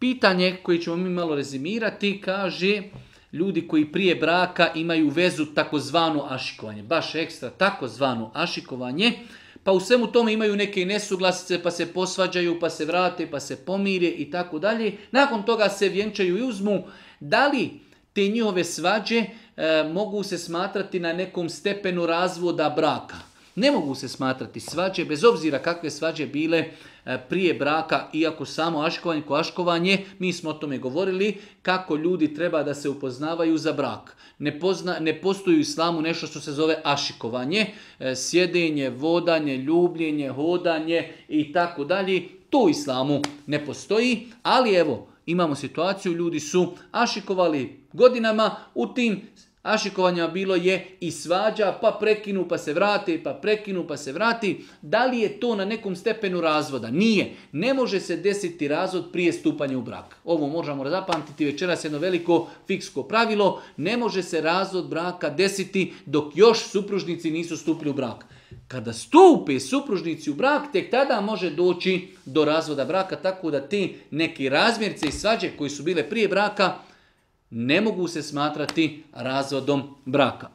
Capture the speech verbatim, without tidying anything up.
Pitanje koje ćemo mi malo rezimirati, kaže ljudi koji prije braka imaju vezu takozvano ašikovanje, baš ekstra takozvano ašikovanje, pa u svemu tome imaju neke nesuglasice, pa se posvađaju, pa se vrate, pa se pomire i tako dalje. Nakon toga se vjenčaju i uzmu. Da li te njihove svađe e, mogu se smatrati na nekom stepenu razvoda braka? Ne mogu se smatrati svađe, bez obzira kakve svađe bile prije braka, iako samo aškovanje ko aškovanje, mi smo o tome govorili, kako ljudi treba da se upoznavaju za brak. Ne, pozna, ne postoji u islamu nešto što se zove ašikovanje, sjedenje, vodanje, ljubljenje, hodanje i tako dalje. To u islamu ne postoji, ali evo, imamo situaciju, ljudi su ašikovali godinama, u tim ašikovanja bilo je i svađa, pa prekinu, pa se vrati, pa prekinu, pa se vrati. Da li je to na nekom stepenu razvoda? Nije. Ne može se desiti razvod prije stupanja u brak. Ovo možemo zapamtiti večeras jedno veliko fiksko pravilo. Ne može se razvod braka desiti dok još supružnici nisu stupili u brak. Kada stupe supružnici u brak, tek tada može doći do razvoda braka, tako da ti neki razmjerce i svađe koji su bile prije braka ne mogu se smatrati razvodom braka.